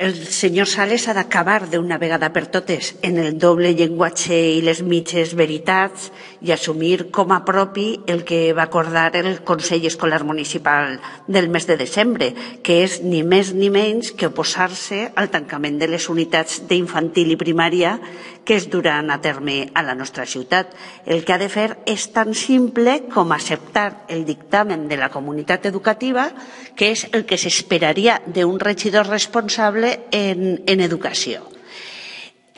El senyor Sales ha d'acabar d'una vegada per totes en el doble llenguatge i les mitges veritats i assumir com a propi el que va acordar el Consell Escolar Municipal del mes de desembre, que és ni més ni menys que oposar-se al tancament de les unitats d'infantil i primària que es duran a terme a la nostra ciutat. El que ha de fer és tan simple com acceptar el dictamen de la comunitat educativa, que és el que s'esperaria d'un regidor responsable en educació.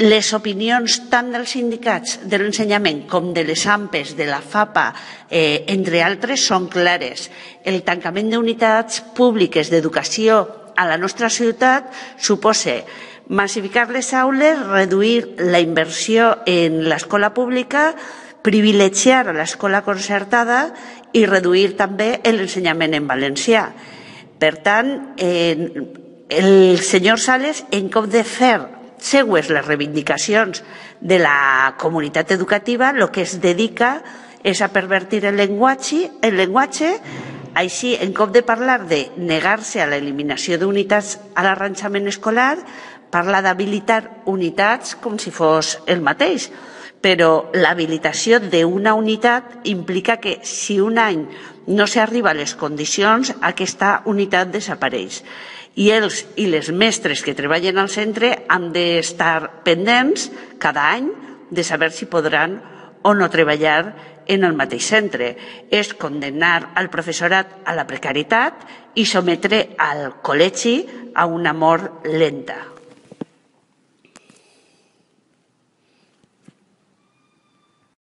Les opinions tant dels sindicats de l'ensenyament com de les AMPEs, de la FAPA, entre altres, són clares. El tancament d'unitats públiques d'educació a la nostra ciutat suposa massificar les aules, reduir la inversió en l'escola pública, privilegiar l'escola concertada i reduir també l'ensenyament en valencià. Per tant, el senyor Sales, en comptes de fer seues les reivindicacions de la comunitat educativa, el que es dedica és a pervertir el llenguatge. Així, en comptes de parlar de negar-se a l'eliminació d'unitats a l'arranjament escolar, parla d'habilitar unitats com si fos el mateix. Però l'habilitació d'una unitat implica que si un any no s'arriba a les condicions, aquesta unitat desapareix. I els i les mestres que treballen al centre han d'estar pendents cada any de saber si podran o no treballar en el mateix centre. És condemnar al professorat a la precarietat i sometre al col·legi a una mort lenta.